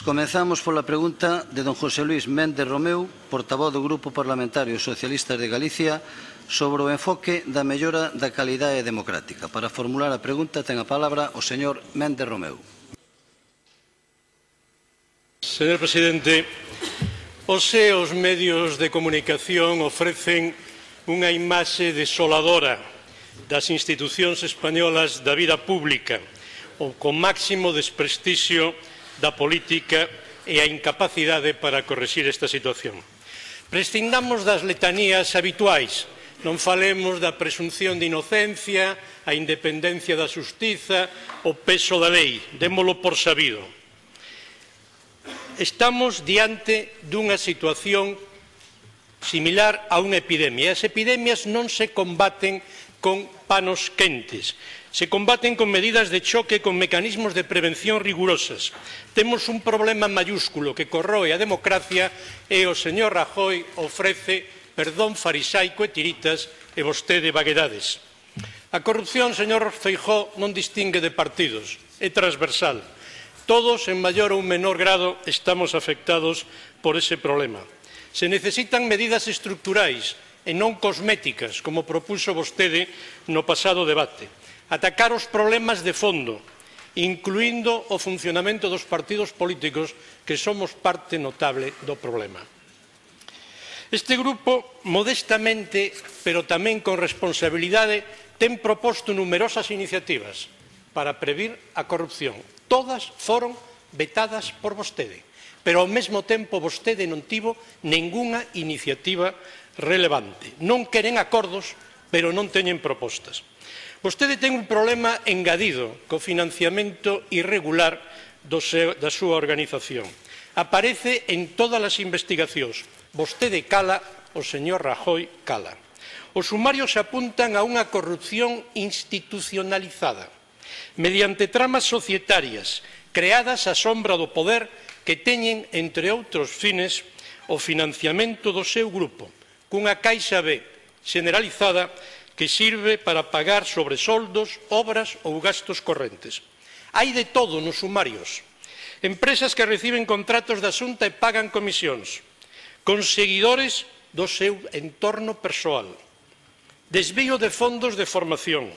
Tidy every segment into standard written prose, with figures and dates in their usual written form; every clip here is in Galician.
Comezamos pola pregunta de don José Luís Méndez Romeu, portavoz do Grupo Parlamentario Socialistas de Galicia, sobre o enfoque da mellora da calidade democrática. Para formular a pregunta ten a palabra o señor Méndez Romeu. Señor presidente, os medios de comunicación ofrecen unha imaxe desoladora das institucións españolas da vida pública, o con máximo desprestixio da política e a incapacidade para corrixir esta situación. Prescindamos das letanías habituais, non falemos da presunción de inocencia, a independencia da xustiza, o peso da lei, démolo por sabido. Estamos diante dunha situación similar a unha epidemia. As epidemias non se combaten con panos quentes, se combaten con medidas de choque, con mecanismos de prevención rigurosas. Temos un problema mayúsculo que corroe a democracia e o señor Rajoy ofrece perdón farisaico e tiritas e vostede vaguedades. A corrupción, señor Feijóo, non distingue de partidos, é transversal. Todos, en maior ou menor grado, estamos afectados por ese problema. Se necesitan medidas estructurais e non cosméticas, como propuxo vostede no pasado debate. Atacar os problemas de fondo, incluindo o funcionamento dos partidos políticos, que somos parte notable do problema. Este grupo, modestamente, pero tamén con responsabilidade, ten proposto numerosas iniciativas para previr a corrupción. Todas foron vetadas por vostede, pero ao mesmo tempo vostede non tivo ningunha iniciativa relevante. Non queren acordos, pero non teñen propostas. Vostede ten un problema engadido co financiamento irregular da súa organización. Aparece en todas as investigacións. Vostede cala, o señor Rajoy cala. Os sumarios apuntan a unha corrupción institucionalizada, mediante tramas societarias creadas á sombra do poder que teñen, entre outros fines, o financiamento do seu grupo, cunha caixa B generalizada que sirve para pagar sobresoldos, obras ou gastos correntes. Hai de todo nos sumarios. Empresas que reciben contratos da Xunta e pagan comisións, con seguidores do seu entorno persoal, desvío de fondos de formación,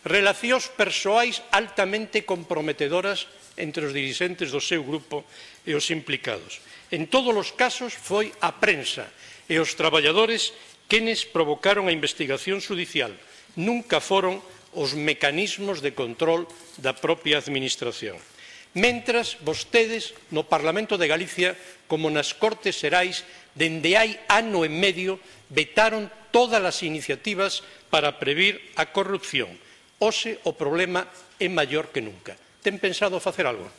relacións persoais altamente comprometedoras entre os dirixentes do seu grupo e os implicados. En todos os casos foi a prensa e os traballadores quenes provocaron a investigación xudicial. Nunca foron os mecanismos de control da propia administración. Mentras, vostedes, no Parlamento de Galicia, como nas Cortes Xerais, dende hai ano e medio, vetaron todas as iniciativas para previr a corrupción. Hoxe o problema é maior que nunca. Ten pensado facer algo?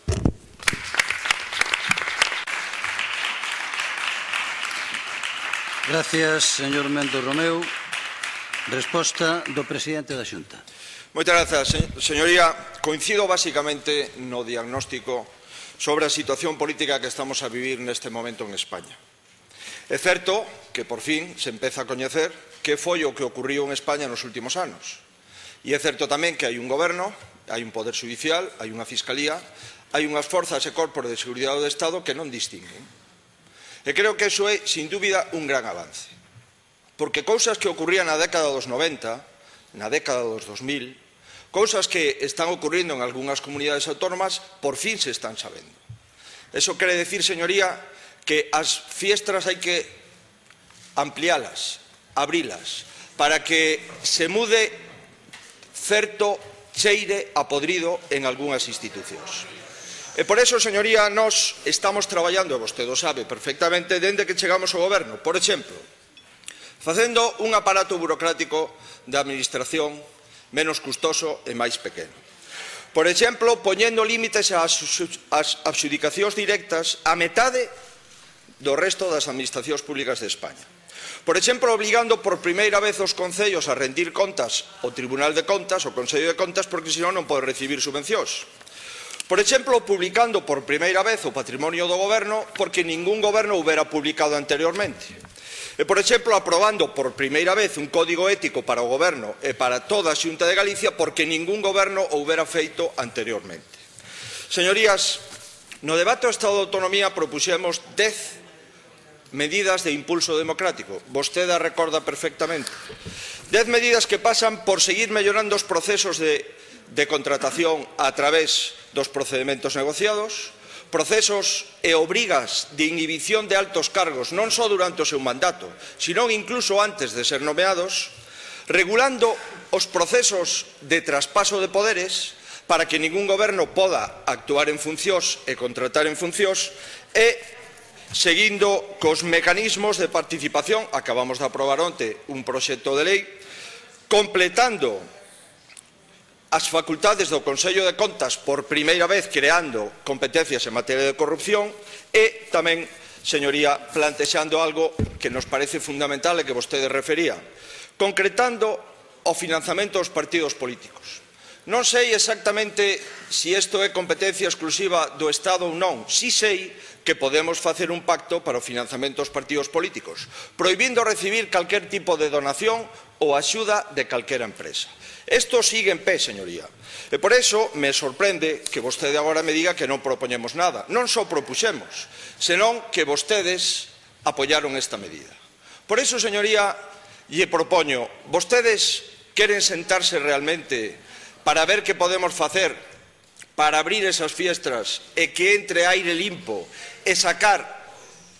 Gracias, señor Méndez Romeu. Resposta do presidente da Xunta. Moitas grazas, señoría. Coincido basicamente no diagnóstico sobre a situación política que estamos a vivir neste momento en España. É certo que por fin se empeza a coñecer que foi o que ocurriu en España nos últimos anos. E é certo tamén que hai un goberno, hai un poder judicial, hai unha fiscalía, hai unhas forzas e corpos de seguridade do Estado que non distinguen. E creo que iso é, sin dúbida, un gran avance. Porque cousas que ocurrían na década dos 90, na década dos 2000, cousas que están ocurrindo en algunhas comunidades autónomas, por fin se están sabendo. Eso quere decir, señoría, que as fiestras hai que ampliálas, abrilas, para que se mude certo cheire a podrido en algunhas institucións. E por eso, señoría, nós estamos traballando, e vostede o sabe perfectamente, dende que chegamos ao goberno. Por exemplo, facendo un aparato burocrático de administración menos custoso e máis pequeno. Por exemplo, poñendo límites ás adxudicacións directas a metade do resto das administracións públicas de España. Por exemplo, obligando por primeira vez os concellos a rendir contas ao Tribunal de Contas, ao Consello de Contas, porque senón non pode recibir subvencións. Por exemplo, publicando por primeira vez o patrimonio do goberno, porque ningún goberno o houbera publicado anteriormente. E, por exemplo, aprobando por primeira vez un código ético para o goberno e para toda a Xunta de Galicia, porque ningún goberno o houbera feito anteriormente. Señorías, No debate ao Estado de Autonomía propuxemos 10 medidas de impulso democrático. Vostede a recorda perfectamente. 10 medidas que pasan por seguir mellorando os procesos de contratación a través dos procedementos negociados, procesos e obrigas de inhibición de altos cargos non só durante o seu mandato, sino incluso antes de ser nomeados, regulando os procesos de traspaso de poderes para que ningún goberno poda actuar en funcións e contratar en funcións e seguindo cos mecanismos de participación, acabamos de aprobar onte un proxecto de lei, completando as facultades do Consello de Contas por primeira vez creando competencias en materia de corrupción e tamén, señoría, plantexando algo que nos parece fundamental e que vostede refería, concretando o financiamento dos partidos políticos. Non sei exactamente se isto é competencia exclusiva do Estado ou non. Si sei que podemos facer un pacto para o financiamento dos partidos políticos, prohibindo recibir calquer tipo de donación ou axuda de calquera empresa. Isto sigue en pé, señoría. E por iso me sorprende que vostede agora me diga que non propoñemos nada. Non só propuxemos, senón que vostedes apoyaron esta medida. Por iso, señoría, lle propoño, vostedes queren sentarse realmente para ver que podemos facer para abrir esas fiestras e que entre aire limpo e sacar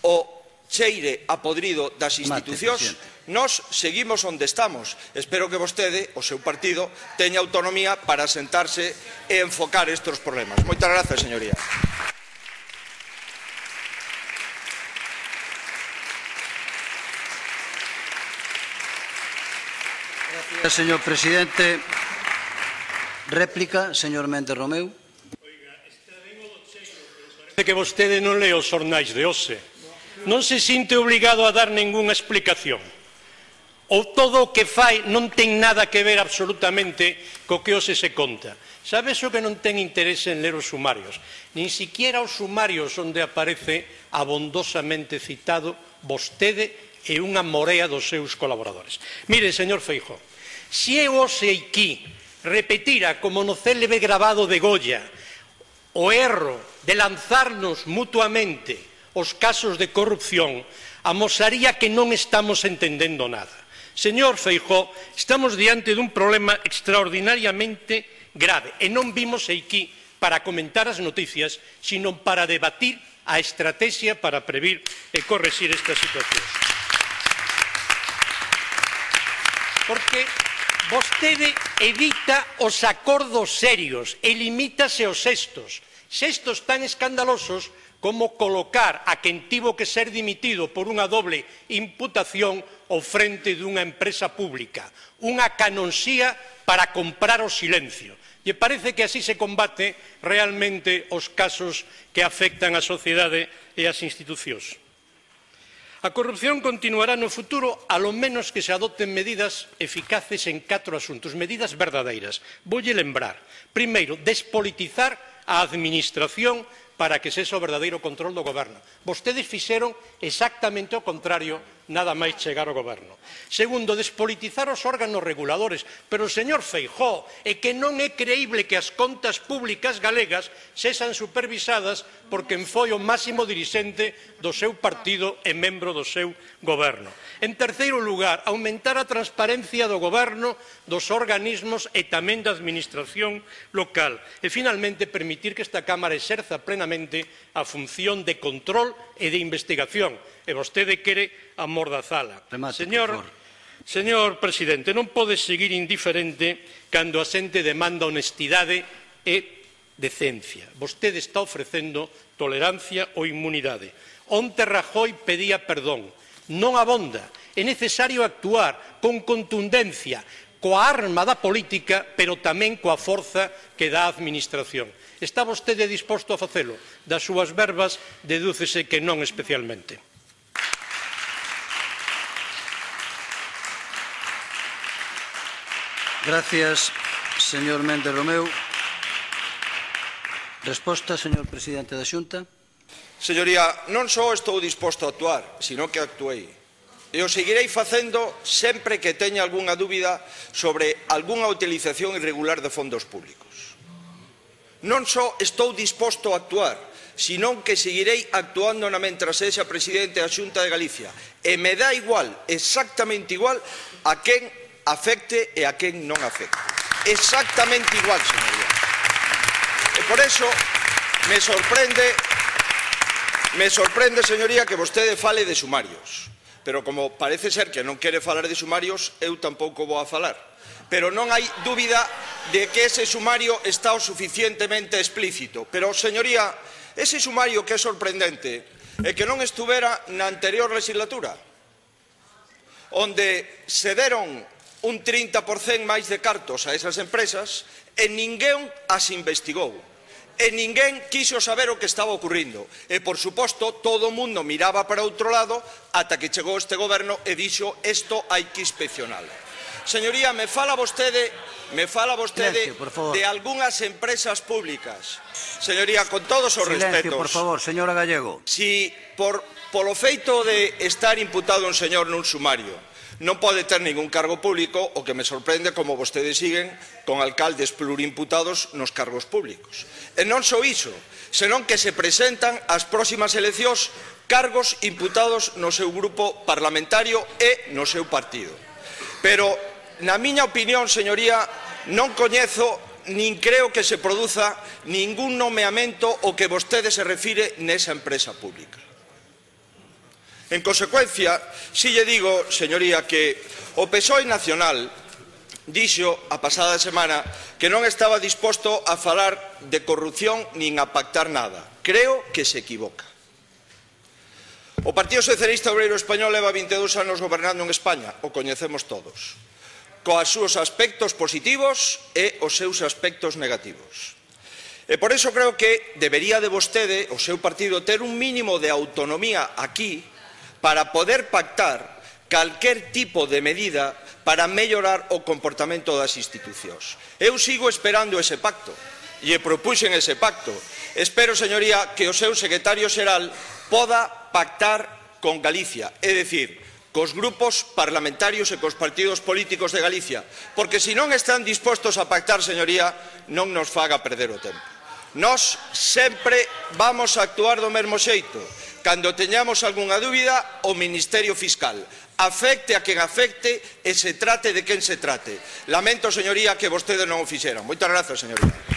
o cheire a podrido das institucións. Nós seguimos onde estamos. Espero que vostede, o seu partido, teña autonomía para sentarse e enfocar estes problemas. Moitas grazas, señoría. Gracias, señor presidente. Réplica, señor Méndez Romeu. Parece que vostede non lee os xornais de hoxe. Non se sinte obrigado a dar ningunha explicación. Ou todo o que fai non ten nada que ver absolutamente co que hoxe se conta. Sabe iso que non ten interese en ler os sumarios. Nin siquiera os sumarios onde aparece abondosamente citado vostede e unha morea dos seus colaboradores. Mire, señor Feijóo, se eu hoxe aquí repetira como no célebre grabado de Goya o erro de lanzarnos mutuamente os casos de corrupción, amosaría que non estamos entendendo nada. Señor Feijóo, estamos diante dun problema extraordinariamente grave e non vimos aquí para comentar as noticias, sino para debatir a estrategia para previr e correxir estas situacións. Porque vostede evita os acordos serios e limítase aos xestos tan escandalosos como colocar a quen tivo que ser dimitido por unha doble imputación ao frente dunha empresa pública, unha canonsía para comprar o silencio. E parece que así se combate realmente os casos que afectan a sociedade e as institucións. A corrupción continuará no futuro, a lo menos que se adopten medidas eficaces en 4 asuntos, medidas verdadeiras. Voulle lembrar, primeiro, despolitizar a administración para que sexa o verdadeiro control do goberno. Vostedes fixeron exactamente o contrario nada máis chegar ao goberno. Segundo, despolitizar os órganos reguladores. Pero, señor Feijóo, é que non é creíble que as contas públicas galegas sexan supervisadas por quen foi o máximo dirixente do seu partido e membro do seu goberno. En terceiro lugar, aumentar a transparencia do goberno, dos organismos e tamén da administración local. E, finalmente, permitir que esta Cámara exerza plenamente a función de control e de investigación. E vostede quere amordazala. Señor presidente, non pode seguir indiferente cando a xente demanda honestidade e decencia. Vostede está ofrecendo tolerancia ou inmunidade. Onte Rajoy pedía perdón. Non abonda. É necesario actuar con contundencia, coa arma da política, pero tamén coa forza que dá a administración. Está vostede disposto a facelo? Das súas verbas dedúcese que non especialmente. Gracias, señor Méndez Romeu. Resposta, señor presidente da Xunta. Señoría, non só estou disposto a actuar, sino que actuei. E o seguirei facendo sempre que teña algunha dúbida sobre algunha utilización irregular de fondos públicos. Non só estou disposto a actuar, senón que seguirei actuando mentras sexa presidente da Xunta de Galicia. E me dá igual, exactamente igual, a quen afecte e a quen non afecte. Exactamente igual, señoría. E por eso me sorprende, señoría, que vostede fale de sumarios. Pero como parece ser que non quere falar de sumarios, eu tampouco vou a falar. Pero non hai dúbida de que ese sumario está o suficientemente explícito. Pero, señoría, ese sumario que é sorprendente é que non estuvera na anterior legislatura, onde se deron un 30% máis de cartos a esas empresas e ninguén as investigou. E ninguén quiso saber o que estaba ocurrindo. E, por suposto, todo o mundo miraba para outro lado ata que chegou este goberno e dixo isto hai que inspeccionalo. Señoría, me fala vostede de algunhas empresas públicas. Señoría, con todos os respetos. Silencio, por favor, señora Gallego. Si polo feito de estar imputado un señor nun sumario non pode ter ningún cargo público, o que me sorprende como vostedes siguen con alcaldes plurimputados nos cargos públicos. E non só iso, senón que se presentan ás próximas eleccións cargos imputados no seu grupo parlamentario e no seu partido. Pero, na miña opinión, señoría, non coñezo nin creo que se produza ningún nomeamento ao que vostede se refire nesa empresa pública. En consecuencia, si lle digo, señoría, que o PSOE nacional dixo a pasada semana que non estaba disposto a falar de corrupción nin a pactar nada. Creo que se equivoca. O Partido Socialista Obreiro Español leva 22 anos gobernando en España, o coñecemos todos, coas súas aspectos positivos e os seus aspectos negativos. E por iso creo que debería de vostede, o seu partido, ter un mínimo de autonomía aquí para poder pactar calquer tipo de medida para mellorar o comportamento das institucións. Eu sigo esperando ese pacto e propuxen ese pacto. Espero, señoría, que o seu secretario xeral poda pactar con Galicia, é dicir, cos grupos parlamentarios e cos partidos políticos de Galicia, porque se non están dispostos a pactar, señoría, non nos faga perder o tempo. Nós sempre vamos a actuar do mesmo xeito. Cando teñamos algunha dúbida, o Ministerio Fiscal. Afecte a quen afecte e se trate de quen se trate. Lamento, señoría, que vostedes non o fixeran. Moitas grazas, señoría.